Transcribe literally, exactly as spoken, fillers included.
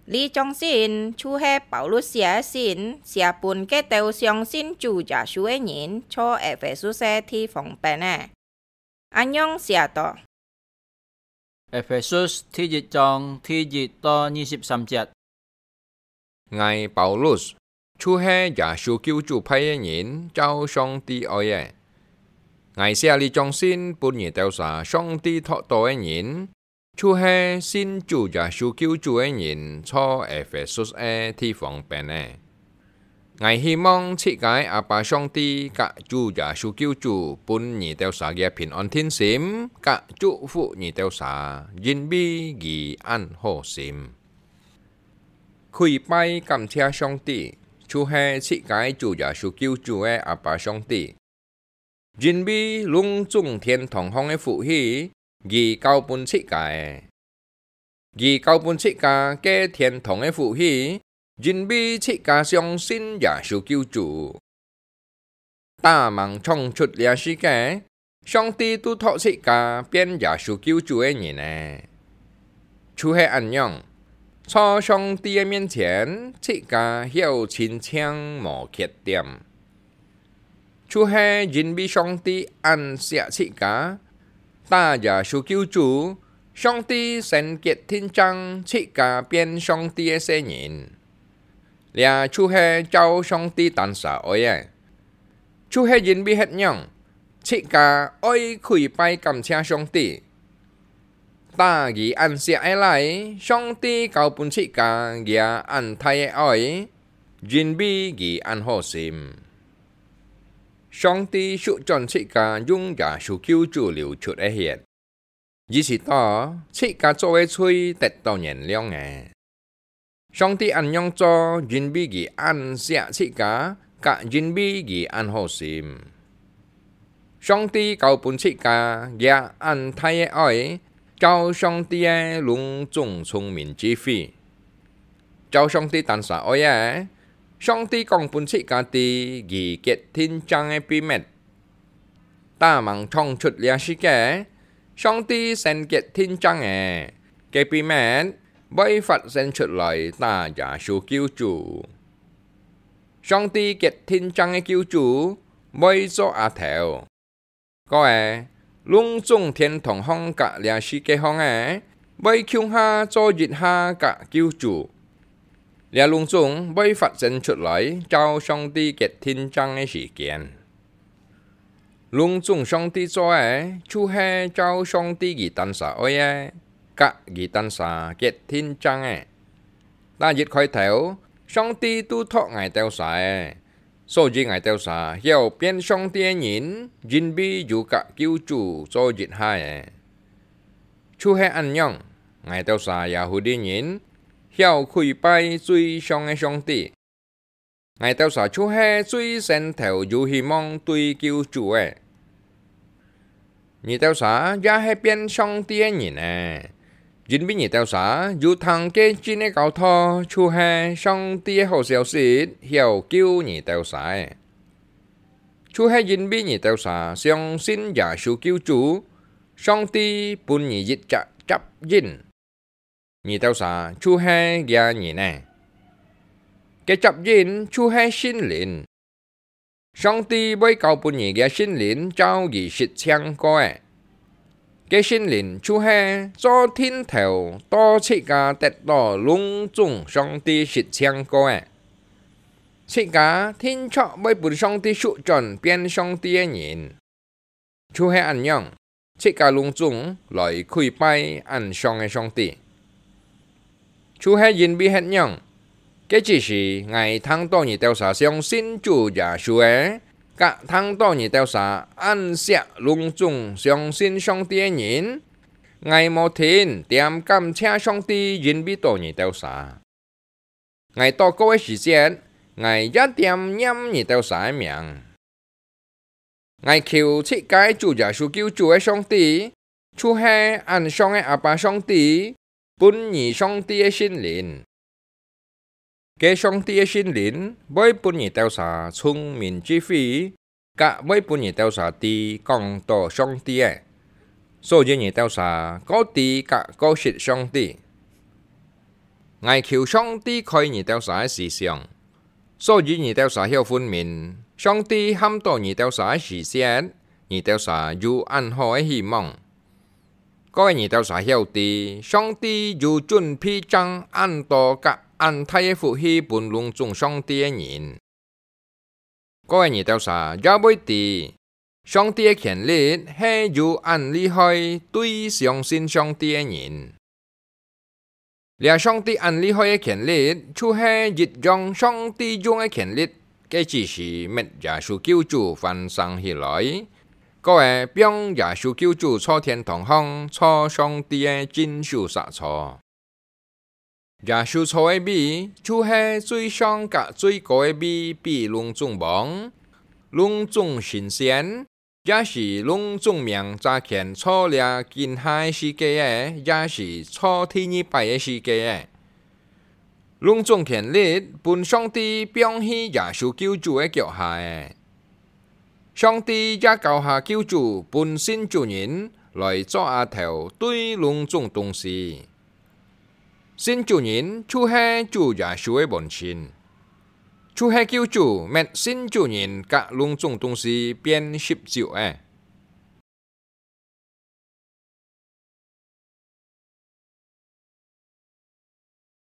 這張信就係保羅寫个信，寫分該兜相信主耶穌个人，在Efesus个地方邊个。恁樣寫到：Efesus第一章第一到二十三節。 𠊎保羅，就係耶穌救主派个人，照上帝愛个。𠊎寫這張信分你兜儕上帝擇到个人，就係信主耶穌救主个人，在Efesus个地方邊个。𠊎希望自家个阿爸上帝佮主耶穌救主分你兜儕个平安定心，佮祝福你兜儕，因為佢恁好心。 跪拜感謝上帝，就係自家个主耶穌救主个阿爸上帝。因為攏總天堂項个福氣，佢交分自家个。佢交分自家个天堂个福氣，因為自家相信耶穌救主。 打吂創出這世界，上帝都擇自家變耶穌救主个人呢。就係恁樣，在上帝个面前，自家曉盡淨無缺點。就係因為上帝恁惜自家，打耶穌救主，上帝先決定正自家變上帝个細人。 這就係照上帝單儕愛个。就係因為恁樣，自家愛跪拜感謝上帝。打佢恁惜个倈，上帝交分自家這恁大个愛，因為佢恁好心。上帝收轉自家用耶穌救主流出个血，意思到自家做个罪得到原諒个。 上帝恁樣做，因為佢恁惜自家，佮因為佢恁好心。上帝交分自家這恁大个愛，照上帝个攏總聰明智慧。照上帝單儕愛个，上帝講分自家知佢決定正个秘密。 打吂創出這世界，上帝先決定正个，該秘密會發現出來打耶穌救主。上帝決定正个救主會做阿頭。過仔，攏總天堂項佮這世界項个，會共下做一下佮救主。 這攏總會發生出來，照上帝決定正个時間。攏總上帝做个，就係照上帝佢單儕愛个，佮佢單儕決定正个。打一開頭，上帝都擇𠊎兜儕个，所以𠊎兜儕曉變上帝个人，因為有佮救主做一下个。 就係恁樣，𠊎兜儕Yahudi人曉跪拜最上个上帝。𠊎兜儕就係最先頭有希望對救主个。你兜儕也係變上帝个人呢，因為你兜儕有聽該真个教導，就係上帝个好消息，曉救你兜儕个。就係因為你兜儕相信耶穌救主， 上帝分你一隻攝印，你兜儕就係厥人呢。該攝印就係聖靈。上帝會交分你个聖靈，照佢實淨過个。該聖靈就係做定頭到自家得到攏總上帝實淨過个。自家定著會分上帝收轉變上帝个人。 就係恁樣，自家攏總來跪拜恁上个上帝。就係因為恁樣，該之時𠊎聽到你兜儕相信主耶穌个，佮聽到你兜儕恁惜攏總相信上帝个人，𠊎無停恬感謝上帝，因為到你兜儕。 𠊎禱告个時節，𠊎也恬念你兜儕个名。𠊎求自家主耶穌救主个上帝，就係恁上个阿爸上帝，分你上帝个聖靈。該上帝个聖靈會分你兜儕聰明智慧， 佮會分你兜儕知講到上帝个，所以你兜儕過知佮過識上帝。𠊎求上帝開你兜儕个思想，所以你兜儕曉分明，上帝喊到你兜儕个時節，你兜儕有恁好个希望。各位，你兜儕曉得，上帝有準備正恁多佮恁大个福氣分攏總上帝个人。 各位，你兜儕也會知，上帝个權力係有恁厲害，對相信上帝个人。這上帝恁厲害个權力，就係一樣上帝用个權力，个指示，搣耶穌救主翻生起來。各位，放耶穌救主坐天堂項，坐上帝个正手儕坐。 耶穌坐个位，就係最上佮最高个位，比攏總王、攏總神仙，也係攏總名查權坐這今下个世界个，也係坐第二擺个世界个。攏總權力分上帝放去耶穌救主个腳下个。上帝也交下救主分信主人來做阿頭，對攏總東西。 信主人就係主耶穌个門親，就係救主搣信主人佮攏總東西變十足个。